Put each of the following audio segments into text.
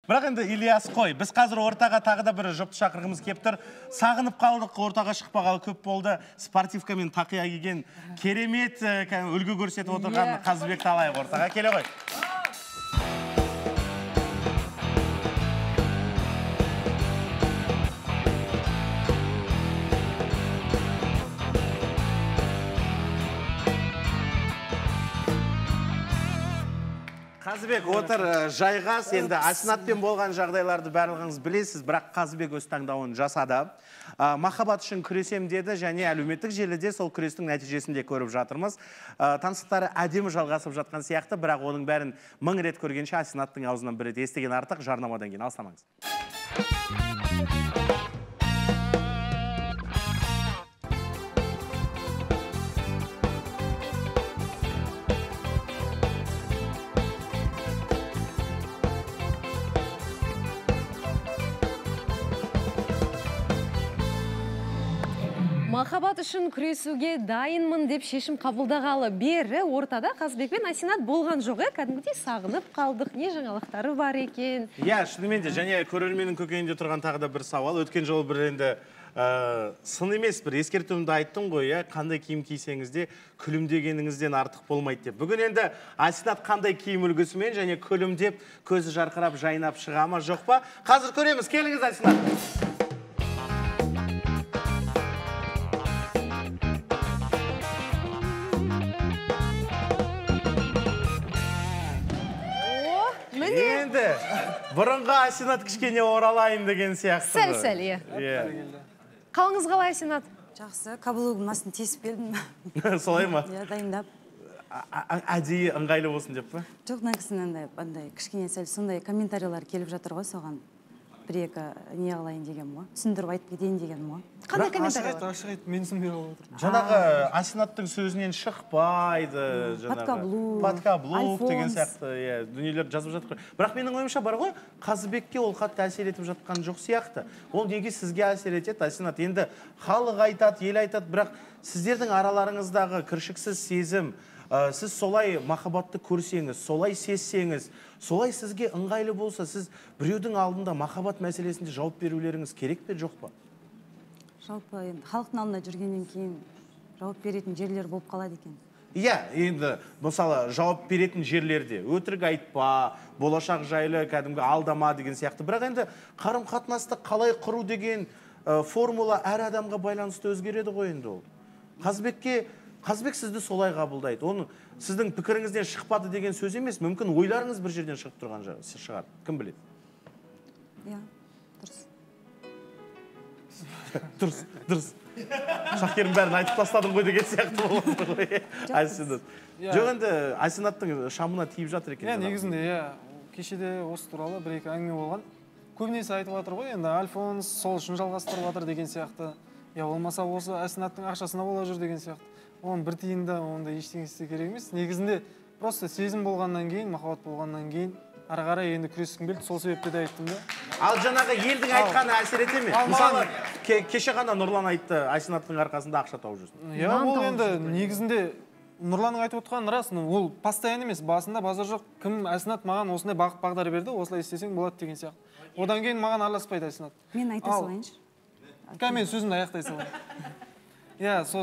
Бірақ енді Ильяс қой, біз қазір ортаға тағы да бір жұпты шақырғымыз кеп тұр. Сағынып қалдық, ортаға шықпағалы көп болды. Спортивка мен тақия киген керемет үлгі көрсетіп отырған Қазыбекті алайық ортаға. Келе ғой. Қазыбек отыр жайғас, енді Асинатпен болған жағдайларды барлығыңыз білесіз, бірақ Қазыбек өз таңдауын жасады. Махаббат үшін күресем деді, және әлеуметтік желіде сол күрестің нәтижесінде көріп жатырмыз. Таныстықтары әдемі жалғасып жатқан сияқты, бірақ оның бәрін 1000 рет көргенше Асинаттың аузынан бір рет естіген артық. Жарнамадан кейін алыстамаңыз. Махаббат үшін күресуге дайынмын деп шешім қабылдағалы бері ортада Қазыбек пен Асинат болған жоқ, кәдімгідей сағынып қалдық, не жаңалықтары бар екен. Шынымен де, және көрерменнің көкейінде тұрған тағы да бір сауал. Өткен жолы бір енді сын емес, бір ескертуімді айттым ғой, қандай киім кисеңіз де күлімдегеніңізден артық болмайды деп. Бүгін енді Асинат қандай киім үлгісімен және күлімдеп, көзі жарқырап, жайнап шыға ма, жоқ па? Қазір көреміз, келіңіз Асинат. Енді бұрынғы Асинат кішкене оралайын деген сияқты. Сәл-сәл, Қалыңыз қалай, Асинат? Жақсы, каблугымның астын тесіп келдім. Солай ма? Дайындап. Әдейі ыңғайлы болсын деп па? Жоқ, нәкісінен андай кішкене сәл сондай комментариялар келіп жатыр ғой, соған бір-екі не қылайын деген ғой. Түсіндіріп айтып кетейін деген ғой. Қандай комментариялар? Ашық айт, мен түсінбей қалып отыр. Жаңағы Асинаттың сөзінен шықпайды, подкаблук деген сияқты дүниелер жазып жатыр. Бірақ менің ойымша бар ғой, Қазыбекке ол қатты әсер етіп жатқан жоқ сияқты. Ол неге сізге әсер етеді, Асинат? Енді халық айтады, ел айтады, бірақ сіздердің араларыңыздағы кіршіксіз сезім, сіз солай махаббатты көрсеңіз, солай сезсеңіз, солай сізге ыңғайлы болса, сіз біреудің алдында махаббат мәселесінде жауап берулеріңіз керек пе, жоқ па? Жалпы енді халықтың алдында жүргеннен кейін жауап беретін жерлер болып қалады екен. Енді мысалы жауап беретін жерлерде өтірік айтпа, болашақ жайлы кәдімгі алдама деген сияқты. Бірақ енді қарым-қатынасты қалай құру деген формула әр адамға байланысты өзгереді ғой енді ол. Қазыбек сізді солай қабылдайды. Оның сіздің пікіріңізден шықпады деген сөз емес, мүмкін ойларыңыз бір жерден шығып тұрған шығар. Кім біледі? Дұрыс. Дұрыс. Шақерім бәрін айтып тастадым ғой деген сияқты болады ғой. Асинат. Жоқ енді Асинаттың шамына тиіп жатыр екен. Негізінде, кешеде осы туралы бір-екі әңгіме болған. Көбінесе айтып жатыр ғой, енді Альфонс сол үшін жалғастырып жатыр деген сияқты. Болмаса осы Асинаттың ақшасына бола жүр деген сияқты. Оның бір тиында онда ештеңе істеу керек емес. Негізінде просто сезім болғаннан кейін, махаббат болғаннан кейін ары қарай енді күрескім келді, сол себепті де айттым да. Ал жаңағы елдің айтқаны әсер ете ме? Мысалы, кеше ғана Нұрлан айтты, Асинаттың арқасында ақша тауып жүрсің. Ол енді негізінде Нұрланның айтып отқан рас, ол постоянно емес, басында базар жоқ. Кім Асинат маған осындай бағыт-бағдар берді, осылай істесең болады деген сияқты. Одан кейін маған араласпайды Асинат. Мен айта салайыншы. Мен сөзімді аяқтай салайын.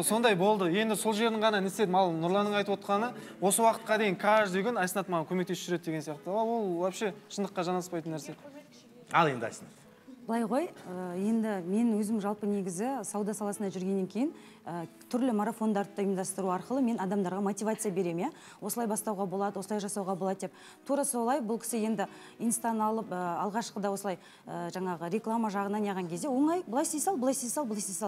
Сондай болды. Енді сол жерін ғана не істедім. Ал Нұрланның айтып отқаны, осы уақытқа дейін каждый күн Асинат маған көмектесіп жүреді деген сияқты. Ол вообще шындыққа жанаспайтын нәрсе. Ал енді Асинат. Былай ғой, енді мен өзім жалпы негізі сауда саласына жүргеннен кейін түрлі марафондарды ұйымдастыру арқылы мен адамдарға мотивация берем, осылай бастауға болады, осылай жасауға болады деп. Тура солай бұл кісі енді инстаны алып, алғашқыда осылай жаңағы реклама жағынан яған кезде оңай, былай істей сал.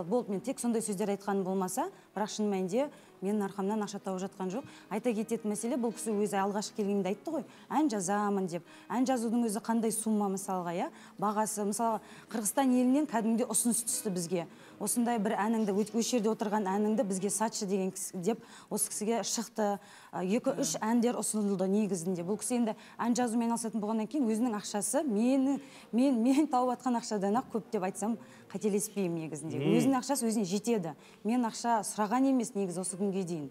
Болды, мен тек сондай сөздер айтқаным болмаса, бірақ шын мәнінде менің арқамнан ақша тауып жатқан жоқ. Айта кететін мәселе, бұл кісі өзі алғашқы келгенде айтты ғой, ән жазамын деп. Ән жазудың өзі қандай сумма мысалға, бағасы, мысалы Қырғызстан елінен кәдімгідей ұсыныс түсті бізге. Осындай бір әніңді, осы жерде отырған әніңді бізге сатшы деген деп осы кісіге шықты. 2-3 әндер ұсынылды негізінде. Бұл кісі енді ән жазумен айналысатын болғаннан кейін өзінің ақшасы мен тауып атқан ақшадан ақ көп деп айтсам қателеспеймін негізінде. Өзінің ақшасы өзіне жетеді. Мен ақша сұраған емес негізі осы күнге дейін.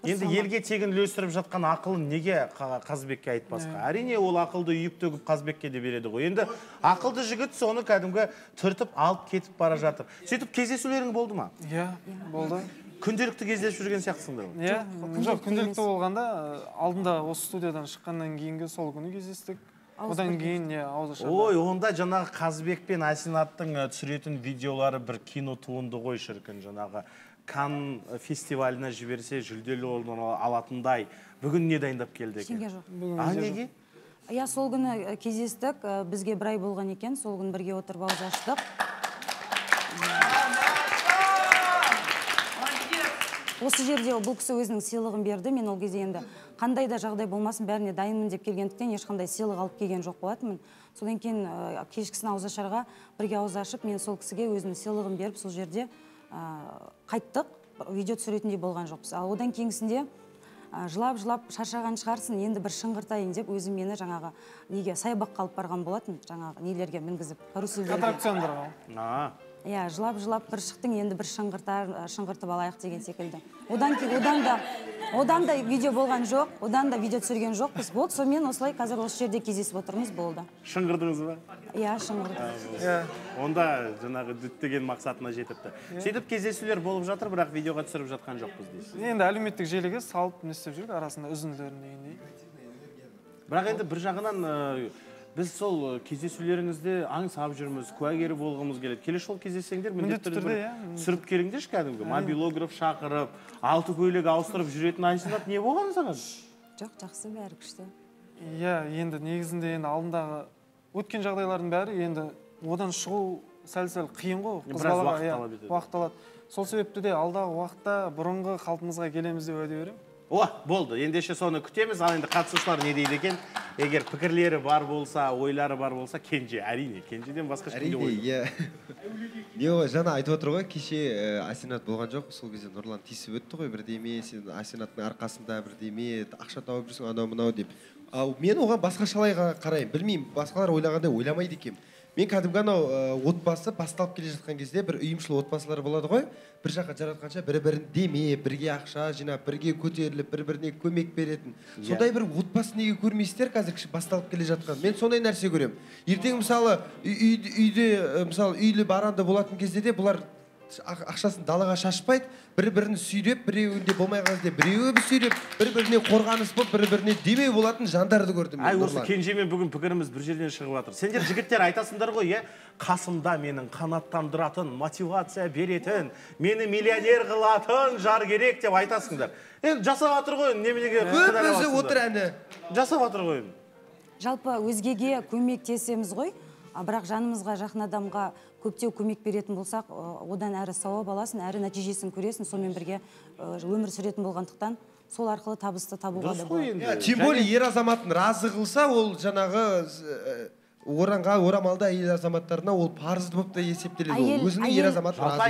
Енді елге тегін үлестіріп жатқан ақылын неге Қазыбекке айтпасқа? Әрине ол ақылды үйіп төгіп Қазыбекке де береді ғой. Енді ақылды жігіт соны кәдімгі түртіп алып кетіп бара жатыр. Сөйтіп кездесулерің болды ма? Иә, болды. Күнделікті кездесіп жүрген сияқтысыңдар ғой. Иә, жоқ, күнделікті болғанда алдында осы студиядан шыққаннан кейінгі сол күні кездестік. Одан кейін ауызашар. Ой, онда жаңағы Қазыбек пен Асинаттың түсіретін видеолары бір кино туынды ғой шіркін. Жаңағы Канн фестиваліне жіберсе жүлделі орын алатындай. Бүгін не дайындап келді екен? Ештеңе жоқ. Неге? Иә, сол күні кездестік, бізге бір ай болған екен, сол күні бірге отырып ауыз аштық. Осы жерде бұл кісі өзінің сыйлығын берді. Мен ол кезде енді қандай да жағдай болмасын, бәріне дайынмын деп келгендіктен ешқандай сыйлық алып келген жоқ болатынмын. Содан кейін кешкісін ауызашарға бірге ауыз ашып, мен сол кісіге өзінің сыйлығын беріп, сол жерде қайттық. Видео түсіретіндей болған жоқпыз. Ал одан кейінгісінде жылап шаршаған шығарсын, енді бір шыңғыртайын деп өзім мені жаңағы неге саябаққа алып барған болатын, жаңағы нелерге мінгізіп, карусельдерге. Аттракциондарға. Иә, жылап бір шықтың, енді бір шыңғыртып алайық деген секілді. Одан да видео болған жоқ, одан да видео түсірген жоқпыз. Болды, сонымен осылай қазір осы жерде кездесіп отырмыз, болды. Шыңғырдыңыз ба? Иә, шыңғырдым. Онда жаңағы діттеген мақсатына жетіпті. Сөйтіп кездесулер болып жатыр, бірақ видеоға түсіріп жатқан жоқпыз дейсіз. Енді әлеуметтік желіге салып не істеп жүрік, арасында үзінділерін дегендей. Бірақ енді бір жағынан біз сол кездесулеріңізде аңсап жүрміз, куәгері болғымыз келеді. Келесі жолы кездессеңдер, міндетті түрде түсіріп келіңдерші кәдімгі. Мобилограф шақырып, алты көйлек ауыстырып жүретін Айсинат не болған саған? Жоқ, жақсы, бәрі күшті. Иә, енді негізінде енді алдындағы өткен жағдайлардың бәрі енді одан шығу сәл-сәл қиын ғой. Біраз уақыт алады. Сол себепті де алдағы уақытта бұрынғы қалпымызға келеміз деп уәде беремін. Болды. Ендеше соны күтеміз. Ал енді қатысушылар не дейді екен? Егер пікірлері бар болса, ойлары бар болса, Кенже, әрине. Кенжеден басқа ешкімде ой. Әрине, жаңа айтып отыр ғой, кеше Асинат болған жоқ, сол кезде Нұрлан тиісіп өтті ғой, бірдеме, сен Асинаттың арқасында бірдеме, ақша тауып жүрсің, анау-мынау деп. Ал мен оған басқашалай қараймын, білмеймін, басқалар ойлағандай ойламайды екем. Мен кәдімгі анау отбасы басталып келе жатқан кезде бір үйімшіл отбасылар болады ғой, бір жаққа жаратқанша бірі-бірін демеп, бірге ақша жинап, бірге көтеріліп, бір-біріне көмек беретін. Сондай бір отбасы неге көрмейсіздер қазір басталып келе жатқан. Мен сондай нәрсе көремін. Ертең мысалы үйлі баранды болатын кезде де бұлар ақшасын далаға шашпайды, бір-бірін сүйреп, біреуінде болмай қалды, біреуі сүйреп, бір-біріне қорғаныс болып, бір-біріне демеу болатын жандарды көрдім. Осы Кенжемен бүгін пікіріміз бір жерден шығып жатыр. Сендер жігіттер айтасыңдар ғой, қасымда менің қанаттандыратын, мотивация беретін, мені миллионер қылатын жар керек деп айтасыңдар. Енді жасап жатыр ғой, неменеге өзі отыр әні. Жасап жатыр ғой. Жалпы өзгеге көмектесеміз ғой, бірақ жанымызға, жақын адамға көптеу көмек беретін болсақ, одан әрі сауап аласын, әрі нәтижесін көресін, сонымен бірге өмір сүретін болғандықтан сол арқылы табысты табуға да болады. Тем более ер азаматын разы қылса, ол жаңағы орамалды әйел азаматтарына ол парызды болып та есептеледі. Өзінің ер азаматын разы.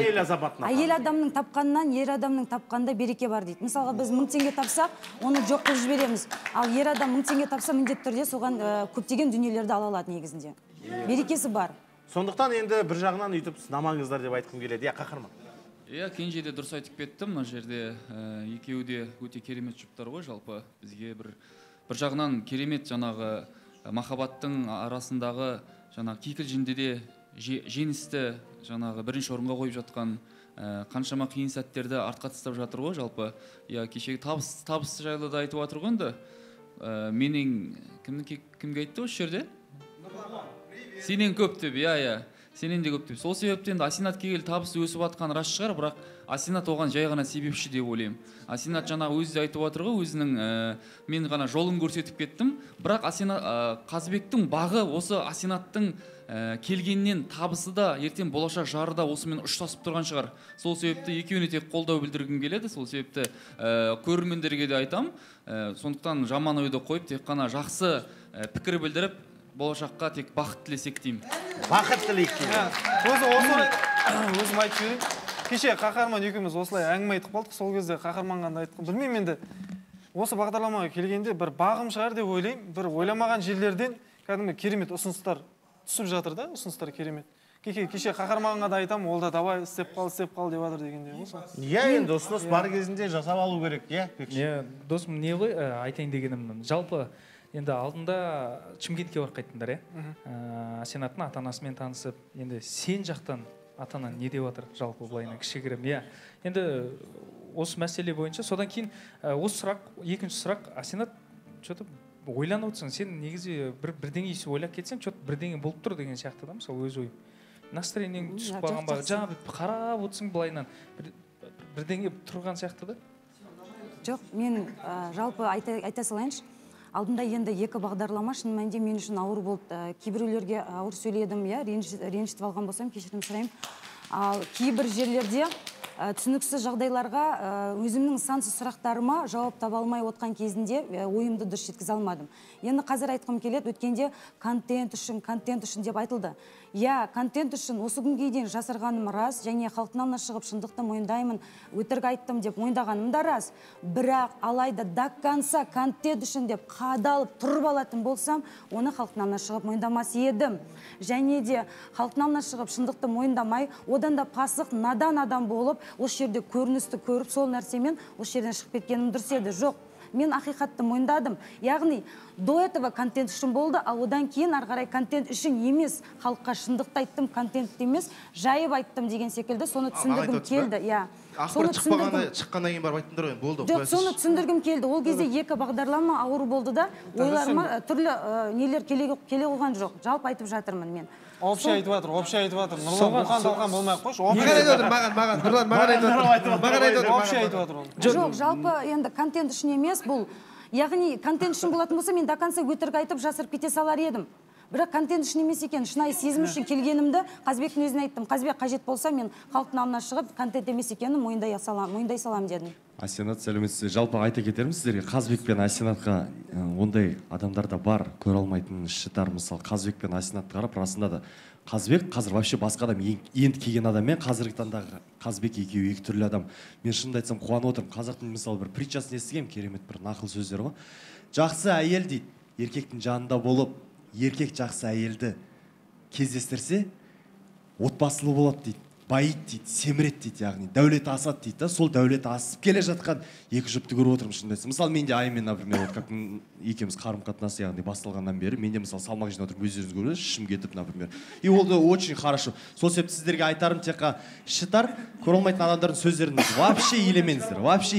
Әйел адамның тапқанынан ер адамның тапқанда береке бар дейді. Мысалға біз 1000 теңге тапсақ, оны жоқ қылып жібереміз. Ал ер адам 1000 теңге тапса, міндетті түрде соған көптеген дүниелерді ала алады негізінде. Берекесі бар. Сондықтан енді бір жағынан үйтіп сынамаңыздар деп айтқым келеді. Қаһарман. Кенже де дұрыс айтып кетті. Мына жерде екеуі де өте керемет жұптар ғой, жалпы бізге бір жағынан керемет жаңағы махаббаттың арасындағы жаңағы кикілжіңде де жеңісті жаңағы бірінші орынға қойып жатқан қаншама қиын сәттерді артқа тастап жатыр ғой, жалпы. Кешегі табыс жайлы да айтып жатыр ғой енді. Менің кімге айтты осы жерде? Сенен көп деп, сенен де көп деп. Сол себептен Асинат келгелі табысы өсіп жатқан рас шығар, бірақ Асинат оған жай ғана себепші деп ойлаймын. Асинат жаңа өзі де айтып жатыр ғой, өзінің мен ғана жолын көрсетіп кеттім, бірақ Қазыбектің бағы осы Асинаттың келгеннен табысы да ертең болашақ жары да осымен ұштасып тұрған шығар. Сол себепті екеуіне тек қолдау білдіргім келеді. Сол себепті көрермендерге де айтам. Сондықтан жаман ойды қойып, тек қана жақсы пікір білдіріп, болашаққа тек бақыт тілесек деймін. Бақыт тілейік деймін. Өзім айтып жіберейін. Кеше Қаһарман екеуміз осылай әңгіме айтып қалдық. Сол кезде Қаһарманға да айтқым. Білмеймін, енді осы бағдарламаға келгенде бір бағым шығар деп ойлаймын. Бір ойламаған жерлерден кәдімгі керемет ұсыныстар түсіп жатыр да, ұсыныстар керемет. кеше қаһарманға да айтамын, ол да давай істеп қал деп жатыр дегендей ғой сол. Иә, енді ұсыныс бар кезінде жасап алу керек, иә. Досым, не ғой айтайын дегенім, жалпы енді алдында Шымкентке барып қайттыңдар, иә? Асенаттың ата-анасымен танысып, енді сен жақтан ата-анаң не деп жатыр, жалпы былайына кішігірім, иә. Енді осы мәселе бойынша, содан кейін осы сұрақ, екінші сұрақ, Асенат, что-то ойланып отырсың, сен негізі бірдеңе ойлап кетсең, что-то бірдеңе болып тұр деген сияқты да, мысалы өз ойың. Настроениең түсіп қалған ба, жаңа қарап отырсың былайынан, бірдеңе тұрған сияқты да? Жоқ, мен жалпы айта салайыншы. Алдында енді екі бағдарлама шын мәнінде мен үшін ауыр болды. Кейбіреулерге ауыр сөйледім, ренжітіп алған болсам, кешірім сұраймын. Ал кейбір жерлерде түсініксіз жағдайларға өзімнің сансыз сұрақтарыма жауап таба алмай отқан кезінде ойымды дұрыс жеткізе алмадым. Енді қазір айтқым келеді, өткенде контент үшін деп айтылды. Иә, контент үшін осы күнге дейін жасырғаным рас, және халықтың алдына шығып шындықты мойындаймын, өтірік айттым деп мойындағаным да рас. Бірақ алайда до конца контент үшін деп қадалып тұрып алатын болсам, оны халықтың алдына шығып мойындамас едім. Және де халықтың алдына шығып шындықты мойындамай, одан да пасық, надан адам болып, осы жерде көріністі көріп, сол нәрсемен осы жерден шығып кеткенім дұрыс еді. Жоқ, мен ақиқатты мойындадым. Яғни, до этого контент үшін болды, ал одан кейін арғарай контент үшін емес, халыққа шындықты айттым, контент емес, жайып айттым деген секілді, соны түсіндіргім келді. Ақпарат шыққаннан кейін барып айттыңдар ғой, болды. Жоқ, соны түсіндіргім келді. Ол кезде екі бағдарлама ауыр болды да, ойларыма түрлі нелер келе қойған жоқ. Жалпы айтып жатырмын мен. Общий айтып жатыр. Нұрлан бұлқан болмай-ақ қойшы. Маған айтып отыр, Нұрлан маған айтып отыр. Общий айтып жатыр ол. Жоқ, жалпы енді контент үшін емес бұл. Яғни контент үшін болатын болса, мен до конца өтірік айтып жасырып кете салар едім. Бірақ контент үшін емес екен, шынайы сезім үшін келгенімді Қазбектің өзіне айттым. Қазбек қажет болса, мен халықтың алдына шығып, контент емес екенін мойындай салам дедім. Асенат, сәлеметсіз. Жалпы айта кетермін сіздерге, Қазбек пен Асенатқа ондай адамдарда бар, көре алмайтын шытар. Мысалы, Қазбек пен Асенатты қарап, расында да Қазбек қазір вообще басқа адам, енді келген адаммен қазіргі таңдағы Қазбек екеуі екі түрлі адам. Мен шынымды айтсам қуанып отырмын. Қазақтың мысалы бір притчасын естігем, керемет бір нақыл сөздер ғой. Жақсы әйел дейді, еркектің жанында болып, еркек жақсы әйелді кездестірсе, отбасылы болады дейді, байиды дейді, семіреді дейді, яғни дәулеті асады дейді. Сол дәулеті асып келе жатқан екі жұпты көріп отырмын шынымды айтсам. Мысалы, менде Аймен, например, вот как екеуміз қарым-қатынасы яғни басталғаннан бері, менде мысалы салмақ жинап отырып өздеріңіз көресіз, ішім кетіп, например. И ол да очень хорошо. Сол себепті сіздерге айтарым, текқа шытар, көре алмайтын адамдардың сөздерін вообще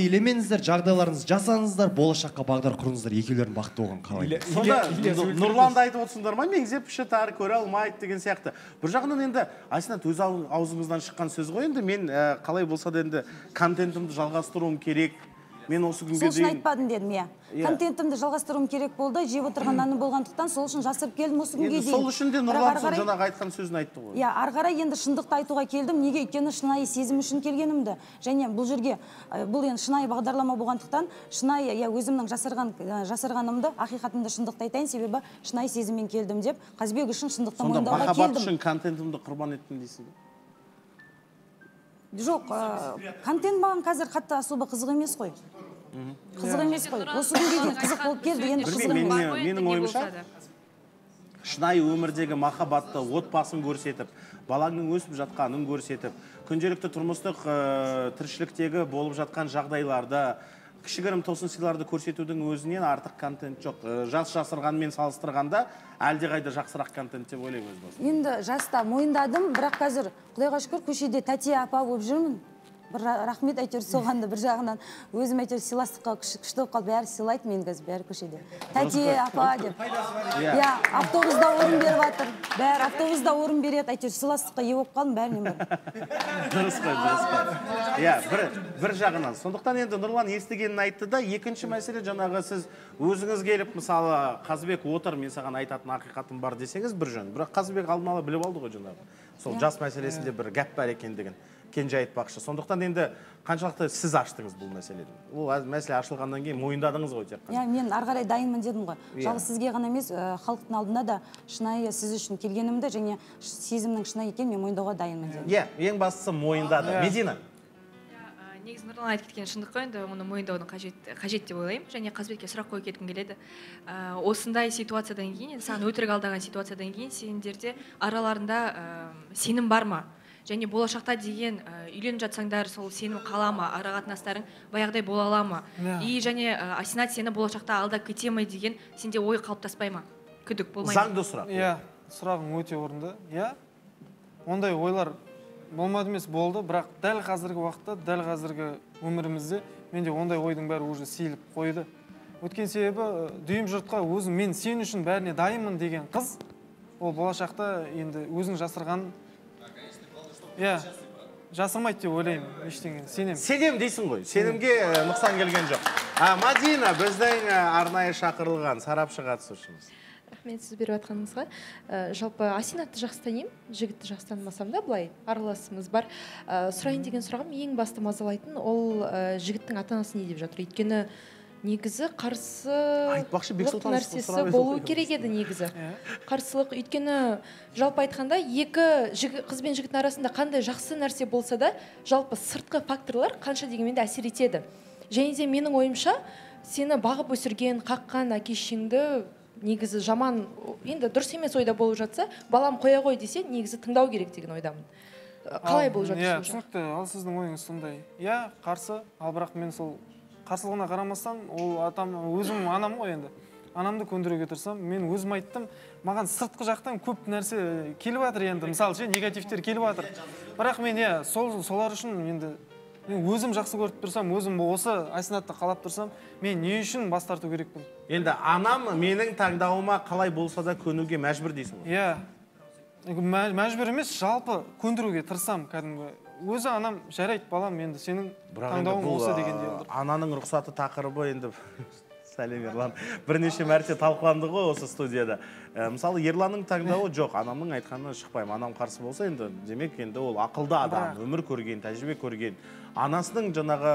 елемеңіздер, жағдайларыңызды жасаңыздар, болашаққа бағдар құрыңыздар, екеулердің бақытты болғанын қалаймын. Сонда Нұрланды айтып отырсыңдар ма, меңзеп шытар, көре алмайды деген сияқты. Бір жағынан енді Асенат өз аузыңыздан шыққан сөз ғой, енді мен қалай болса да енді контентімді жалғастыруым керек. Мен осы күнге дейін... Сол үшін айтпадым дедім, иә. Контентімді жалғастыруым керек болды, жеп отырған наны болғандықтан сол үшін жасырып келдім осы күнге дейін. Сол үшін де Нұрлан жаңағы айтқан сөзін айтты ғой. Иә, арғарай енді шындықты айтуға келдім, неге өйткені шынайы сезім үшін келгенімді. Және бұл жерге, бұл енді шынайы бағдарлама болғандықтан, шынайы, өзімнің жасырғанымды, ақиқатымды шындықты айтайын, себебі шынайы сезіммен келдім деп, Қазбек үшін шындықты мойындауға келдім. Сонда махаббат үшін контентімді құрбан еттім дейсің бе? Жоқ, контент маған қазір қатты особо қызық емес қой. Қызық емес қой. Осы күнге дейін қызық болып келді, енді қызық емес. Менің ойымша, шынайы өмірдегі махаббатты, отбасын көрсетіп, балаңның өсіп жатқанын көрсетіп, күнделікті тұрмыстық тіршіліктегі болып жатқан жағдайларды, кішігірім тосын сыйларды көрсетудің өзінен артық контент жоқ. Жас жасырғанмен салыстырғанда әлдеқайда жақсырақ контент деп ойлаймын өз басым. Енді жаста мойындадым, бірақ қазір Құдайға шүкір көшеде тәте апа болып жүрмін. Бір рахмет әйтеуір соғанды, бір жағынан өзім әйтеуір сыйластыққа күшті болып қалып, бәрі сыйлайды мен қазір, бәрі көшеде. Тәте апа деп. Иә, автобуста орын беріп жатыр. Бәрі автобуста орын береді, әйтеуір сыйластыққа ие болып қалдым, бәрінен бар. Дұрыс қой. Иә, бір жағынан. Сондықтан енді Нұрлан естігенін айтты да, екінші мәселе жаңағы сіз өзіңіз келіп, мысалы, Қазбек отыр, мен саған айтатын ақиқатым бар десеңіз бір жөн. Бірақ Қазбек алдын ала біліп алды ғой жаңағы. Сол жас мәселесінде бір гәп бар екендігін кенже айтпақшы. Сондықтан енді қаншалықты сіз аштыңыз бұл мәселені? Ол мәселе ашылғаннан кейін мойындадыңыз ғой тек қана. Иә, мен ары қарай дайынмын дедім ғой. Жалғыз сізге ғана емес, халықтың алдында да шынайы сіз үшін келгенімді және сезімнің шынайы екенін мен мойындауға дайынмын дедім. Иә, ең бастысы мойындады. Медина. негізі Нұрлан айтып кеткен шындық қой, енді оны мойындаудың қажет деп ойлаймын. Және Қазбекке сұрақ қойып кеткім келеді. Осындай ситуациядан кейін, саған өтірік алдаған ситуациядан кейін сендерде араларында сенім бар ма? Және болашақта деген үйленіп жатсаңдар, сол сенім қала ма, ара қатынастарың баяғыдай бола ала ма? И және Асинат сені болашақта алдап кете ме деген сенде ой қалыптаспай ма? Күдік болмай ма? Заңды сұрақ. Иә, сұрағың өте орынды. Иә, ондай ойлар болмады емес, болды, бірақ дәл қазіргі уақытта, дәл қазіргі өмірімізде менде ондай ойдың бәрі уже сейіліп қойды. Өткен себебі дүйім жұртқа өзім мен сен үшін бәріне дайынмын деген қыз, ол болашақта енді өзің жасырған, иә, жасырмайды деп ойлаймын, ештеңе, сенем. Сенем дейсің ғой, сенімге нұқсан келген жоқ. Мадина, біздің арнайы шақырылған сарапшы қатысушымыз. Рахмет сіз беріп жатқаныңызға. Жалпы Асинатты жақсы танимын, жігітті жақсы танымасам да, былай араласымыз бар. Сұрайын деген сұрағым ең басты мазалайтын, ол жігіттің ата-анасы не деп жатыр. Өйткені негізі қарсылық нәрсесі болу керек еді негізі. Қарсылық, өйткені жалпы айтқанда екі қыз бен жігіттің арасында қандай жақсы нәрсе болса да, жалпы сыртқы факторлар қанша дегенмен де әсер етеді. Және де менің ойымша, сені бағып өсірген, қаққан әке-шешеңді негізі жаман, енді дұрыс емес ойда болып жатса, балам қоя ғой десе, негізі тыңдау керек деген ойдамын. Қалай болып жатыр? Иә, түсінікті. Ал сіздің ойыңыз сондай. Иә, қарсы, ал бірақ мен сол қарсылығына қарамастан, ол өзім анам ғой енді. Анамды көндіруге тырысам, мен өзім айттым, маған сыртқы жақтан көп нәрсе келіп жатыр енді, мысалы ше, негативтер келіп жатыр. Бірақ мен солар үшін енді мен өзім жақсы көріп тұрсам, өзім осы Асинатты қалап тұрсам, мен не үшін бас тарту керекпін? Енді анам менің таңдауыма қалай болса да көнуге мәжбүр дейсің ғой? Иә, мәжбүр емес, жалпы көндіруге тырысам кәдімгі. Өзі анам жарайды балам, енді сенің таңдауың осы дегенде. Ананың рұқсаты тақырыбы енді сәлем Ерлан. Бірнеше мәрте талқыланды ғой осы студияда. Мысалы, Ерланның таңдауы жоқ, анамның айтқанына шықпаймын. Анам қарсы болса, енді демек енді ол ақылды адам, өмір көрген, тәжірибе көрген. Анасының жаңағы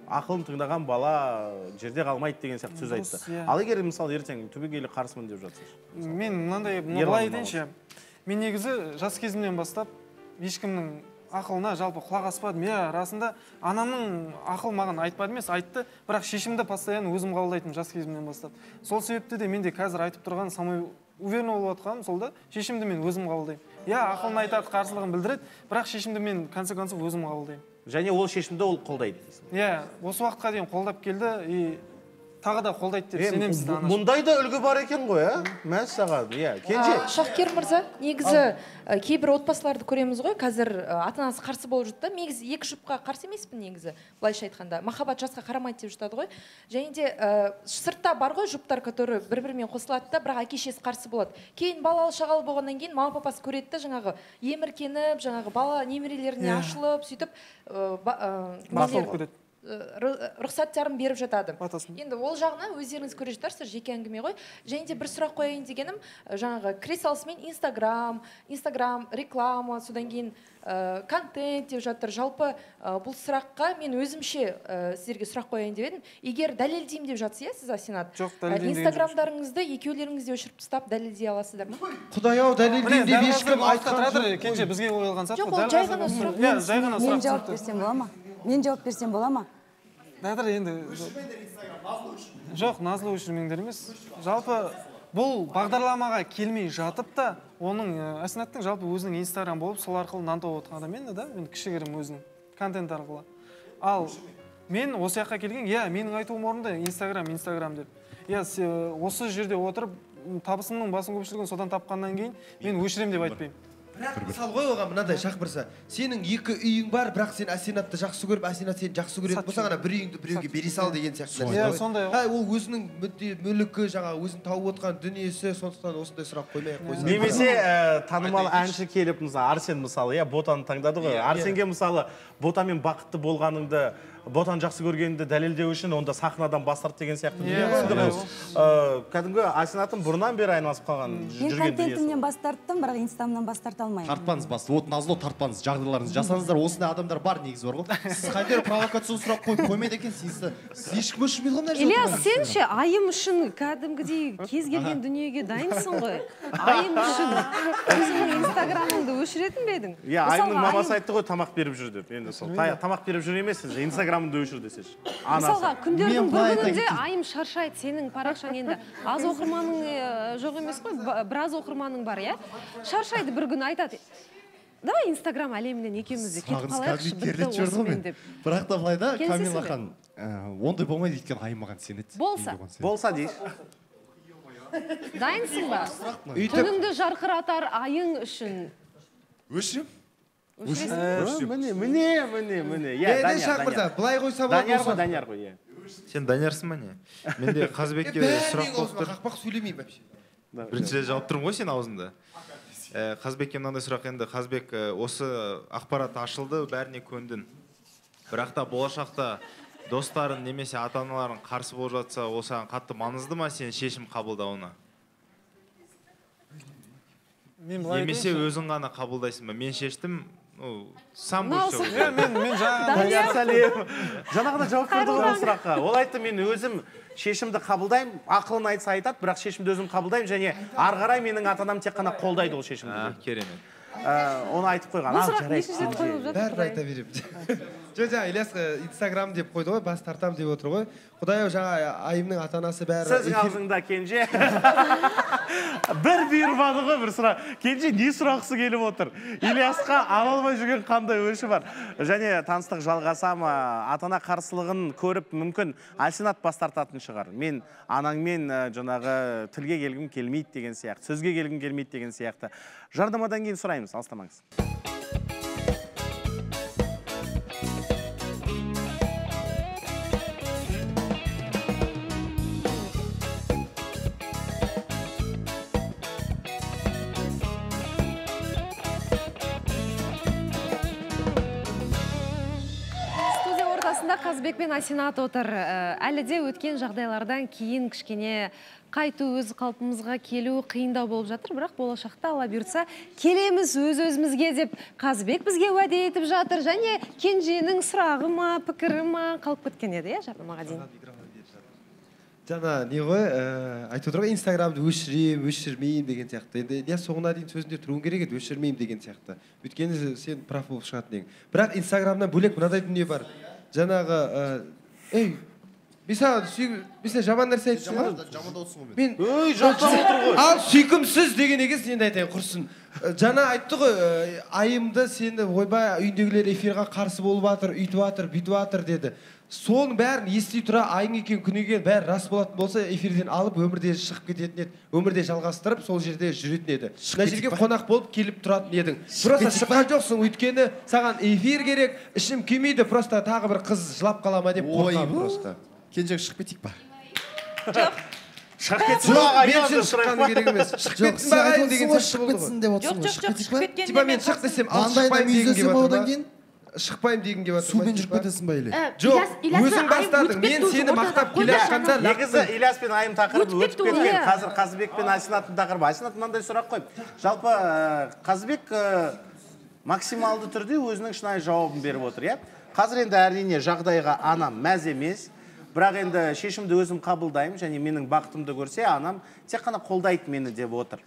ақылын тыңдаған бала жерде қалмайды деген сияқты сөз айтты. Ал егер мысалы ертең түбегейлі қарсымын деп жатсыз? Мен мынандай былай айтайыншы. Мен негізі жас кезімнен бастап ешкімнің ақылына жалпы құлақ аспадым. Расында анамның ақыл маған айтпады емес, айтты, бірақ шешімді постоянно өзім қабылдайтын жас кезімнен бастап. Сол себепті де менде қазір айтып тұрған самой уверен болып отқаным сол да, шешімді мен өзім қабылдаймын. Иә, ақылын айтады, қарсылығын білдіреді, бірақ шешімді мен конце концов өзім қабылдаймын. Және ол шешімді ол қолдайды. Иә, осы уақытқа дейін қолдап келді и тағы да қолдайды деп сенеміз. Мұндай да үлгі бар екен ғой, мәз саған. Кенже. Шахкер мырза, негізі кейбір отбасыларды көреміз ғой, қазір ата-анасы қарсы болып жатты. Негізі екі жұпқа қарсы емеспін негізі, былайша айтқанда. Махаббат жасқа қарамайды деп жатады ғой. Және де сыртта бар ғой жұптар, которые бір-бірімен қосылады да, бірақ әке-шешесі қарсы болады. Кейін балалы шағалы болғаннан кейін мама папасы көреді де, жаңағы еміркеніп, жаңағы бала немерелеріне ашылып, сөйтіп басылып кетеді. Рұқсаттарын беріп жатады. Енді ол жағына өздеріңіз көре жатарсыздар, жеке әңгіме ғой. Және де бір сұрақ қояйын дегенім, жаңағы кіре салысымен Инстаграм, реклама, содан кейін контент деп жатыр. Жалпы бұл сұраққа мен өзімше сіздерге сұрақ қояйын деп едім. Егер дәлелдеймін деп жатсыз, сіз Асинат? Жоқ, дәлелдеймін. Инстаграмдарыңызды екеулеріңізде өшіріп тастап дәлелдей аласыздар ма? Құдай-ау, дәлелдеймін деп ешкім айтқан жоқ. Кенже бізге ойылған сатты. Жоқ, ол жай ғана сұрақ. Мен жауап берсем бола ма? Дәдір енді жоқ, назлы өшірмеңдер емес. Жалпы бұл бағдарламаға келмей жатып та, оның Асинаттың жалпы өзінің Инстаграм болып, сол арқылы нан тауып отырған адам енді да, мен кішігірім өзінің контент арқылы. Ал мен осы жаққа келген, менің айтуым орынды Инстаграм деп. Осы жерде отырып, табысымның басым көпшілігін содан тапқаннан кейін мен өшірем деп айтпаймын. Мысалы ғой оған мынандай Шахбырса, сенің екі үйің бар, бірақ сен Асинатты жақсы көріп, Асинат сені жақсы көретін болса ғана бір үйіңді біреуге бере сал деген сияқты. Сондай. Ол өзінің мүлікі, жаңағы өзінің тауып отқан дүниесі, сондықтан осындай сұрақ қоймай-ақ қойсын. Немесе танымал әнші келіп, Арсен мысалы, Ботаны таңдады ғой. Арсенге мысалы Ботамен бақытты болғаныңды ботан жақсы көргенді дәлелдеу үшін онда сахнадан бас тарт деген сияқты дүние ғой. Енді бұл кәдімгі Асинаттың бұрыннан бері айналысып қалған Мен жүрген дүниесі. контентімнен бас тарттым, бірақ инстамнан бас тарта алмаймын. Тартпаңыз бас, вот назло тартпаңыз, жағдайларыңызды жасаңыздар, осындай адамдар бар негізі бар ғой. Сіз қайтер провокациялық сұрақ қоймайды екенсіз, ешкім өшірмейді ғой мына жерде. Ильяс, сен ше айым үшін кәдімгідей кез келген дүниеге дайынсың ғой. Айым үшін өзіңнің инстаграмыңды өшіретін бе едің? Иә, айымның мамасы айтты ғой, тамақ беріп жүр деп. Енді сол тамақ беріп жүр емес, инстаграмыңды өшір десеш. Мысалға, күндердің бір күнінде айым шаршайды, сенің парақшаң енді аз оқырманың жоқ емес қой, біраз оқырманың бар, иә? Шаршайды бір күн айтады. Давай инстаграм әлемінен екеуміз де кетіп қалайықшы, бітті осымен деп. Бірақ та былай да, Камила хан, ондай болмайды өйткені айым маған сенеді. Болса дейш. Дайынсың ба? Түніңді жарқыратар айың үшін. Өшірем? Міне. Шақ мырза, былай қойса болады. Данияр ғой. Сен Даниярсың ба не? Менде Қазбекке сұрақ болып тұр. Қақпақ сөйлемеймін вообще. Бірінші жауап тұрмын ғой сен аузында. Қазбекке мынандай сұрақ енді, Қазбек осы ақпарат ашылды, бәріне көндің. Бірақ та болашақта достарын немесе ата-аналарын қарсы болып жатса, ол саған қатты маңызды ма сен шешім қабылдауына? Немесе өзің ғана қабылдайсың ба? Мен шештім, сам будешь все. Мен жаңағыда жауап берді ғой ол сұраққа. Ол айтты, мен өзім шешімді қабылдаймын, ақылын айтса айтады, бірақ шешімді өзім қабылдаймын және ары қарай менің ата-анам тек қана қолдайды ол шешімді. Керемет. Оны айтып қойған. Бұл сұрақ нешінші рет қойылып жатыр? Бәрін айта беремін. Жаңа Ильяс инстаграм деп қойды ғой, бас тартам деп отыр ғой. Құдай-ау жаңа айымның ата-анасы бәрі. Сіздің аузыңда Кенже. Бір бұйырмады ғой бір сұрақ. Кенже не сұрақсы келіп отыр? Ильясқа ала алмай жүрген қандай өші бар? Және таныстық жалғасам, ата-ана қарсылығын көріп мүмкін Асинат бас тартатын шығар. Мен анаңмен жаңағы тілге келгім келмейді деген сияқты, сөзге келгім келмейді деген сияқты. Жардамадан кейін сұраймыз, алыстамаңыз. Қазбек пен Асинат отыр. Әлі де өткен жағдайлардан кейін кішкене қайту, өз қалпымызға келу қиындау болып жатыр, бірақ болашақта Алла бұйыртса келеміз өз-өзімізге деп Қазбек бізге уәде етіп жатыр, және Кенженің сұрағы ма, пікірі ма қалып кеткен еді, иә, жарнамаға дейін. Жаңа не ғой, айтып отыр ғой, инстаграмды өшірмеймін деген сияқты. Енді не соңына дейін сөзінде тұруың керек еді, өшірмеймін деген сияқты. Өйткені сен прав болып шығатын ең. Бірақ инстаграмнан бөлек мынадай дүние бар. Жаңағы, мен жаман нәрсе айтып жаманда отырсың ғой мен. Ал сүйкімсіз деген егіз енді айтайын құрсын. Жаңа айтты ғой, айымды сені ойбай үйіндегілер эфирға қарсы болып атыр, үйтіп атыр, бүйтіп атыр деді. Соның бәрін ести тұра айың екен күнеген бәрі рас болатын болса эфирден алып өмірде шығып кететін еді, өмірде жалғастырып сол жерде жүретін еді. Мына жерге қонақ болып келіп тұратын едің. Просто шыққан жоқсың, өйткені саған эфир керек, ішім күймейді, просто тағы бір қыз жылап қала ма деп қорқам просто. Кенжеге шығып кетейік ба? Жоқ. Шығып кетсін ба ағайын деп шыққаны керек емес. Шығып кетсін ба ағайын деген сияқты болды ғой. Типа мен шық десем, ал шықпайым дегенге батыр ма? Шықпайым дегенге батыр ма? Сумен жүріп кетесің ба или? Жоқ, өзің бастардың. Мен сені мақтап келе жатқанда негізі Ильяс пен айым тақырыбы өтіп кеткен. Қазір Қазбек пен Асинаттың тақырыбы. Асинат мынандай сұрақ қойып. Жалпы Қазбек максималды түрде өзінің шынайы жауабын беріп отыр, иә? Қазір енді әрине жағдайға анам мәз емес. Бірақ енді шешімді өзім қабылдаймын және менің бақытымды көрсе, анам тек қана қолдайды мені деп отыр.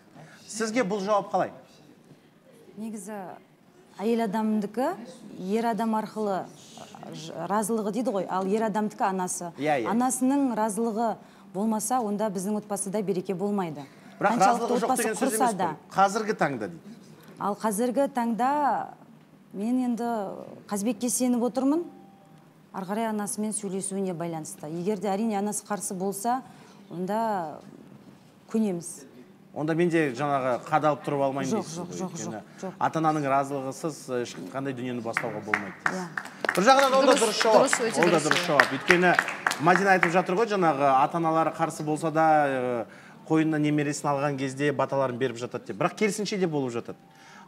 Сізге бұл жауап қалай? Негізі әйел адамдікі ер адам арқылы разылығы дейді ғой, ал ер адамдікі анасы. Анасының разылығы болмаса, онда біздің отбасыда береке болмайды. Бірақ разылығы жоқ деген сөз емес қой. Қазіргі таңда дейді. Ал қазіргі таңда мен енді Қазбекке сеніп отырмын. Ары қарай анасымен сөйлесуіне байланысты. Егер де әрине анасы қарсы болса, онда көнеміз. Онда мен де жаңағы қадалып тұрып алмайын дейсіз. Жоқ. Ата-ананың разылығысыз ешқандай дүниені бастауға болмайды. Бір жағынан ол да дұрыс жауап. Ол да дұрыс жауап. Өйткені Мадина айтып жатыр ғой, жаңағы ата-аналары қарсы болса да қойнына немересін алған кезде баталарын беріп жатады деп. Бірақ керісінше де болып жатады.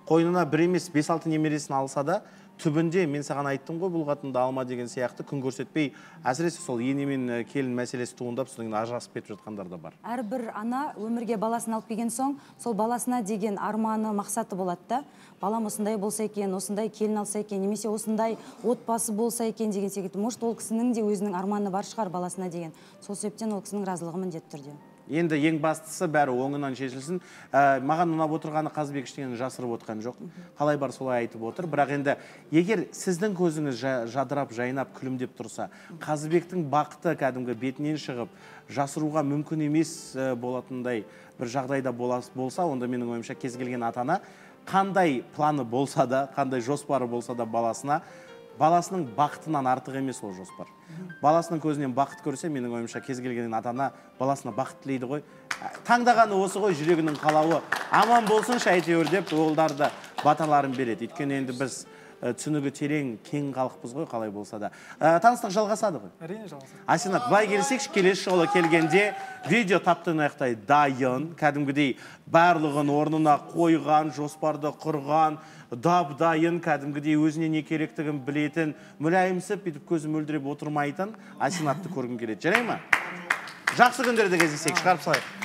Қойнына бір емес 5-6 немересін алса да түбінде мен саған айттым ғой бұл қатынды алма деген сияқты күн көрсетпей әсіресе сол ене мен келін мәселесі туындап содан кейін ажырасып кетіп жатқандар да бар. Әрбір ана өмірге баласын алып келген соң сол баласына деген арманы мақсаты болады да, балам осындай болса екен, осындай келін алса екен, немесе осындай отбасы болса екен деген секілді. Может, ол кісінің де өзінің арманы бар шығар баласына деген. Сол себептен ол кісінің разылығы міндетті түрде. Енді ең бастысы бәрі оңынан шешілсін. Маған ұнап отырғаны Қазбек ештеңені жасырып отқан жоқ. Қалай бар солай айтып отыр. Бірақ енді егер сіздің көзіңіз жадырап, жайнап, күлімдеп тұрса, Қазбектің бақыты кәдімгі бетінен шығып, жасыруға мүмкін емес болатындай бір жағдайда болса, онда менің ойымша кез келген ата-ана қандай планы болса да, қандай жоспары болса да баласының бақытынан артық емес ол жоспар. Баласының көзінен бақыт көрсе, менің ойымша кез келген ата-ана баласына бақыт тілейді ғой. Таңдағаны осы ғой, жүрегінің қалауы. Аман болсыншы әйтеуір деп олдарды баталарын береді. Өйткені енді біз түсінігі терең, кең халықпыз ғой, қалай болса да. Таныстық жалғасады ғой. Әрине жалғасады. Асинат, былай келсекші, келесі жолы келгенде видео таптың аяқтай дайын, кәдімгідей барлығын орнына қойған, жоспарды құрған, дайын, кәдімгідей өзіне не керектігін білетін, мүләйімсіп, бүйтіп көзі мөлдіреп отырмайтын Асинатты көргім келеді. Жарай ма? Жақсы күндерде кездесейік, шығарып салайық.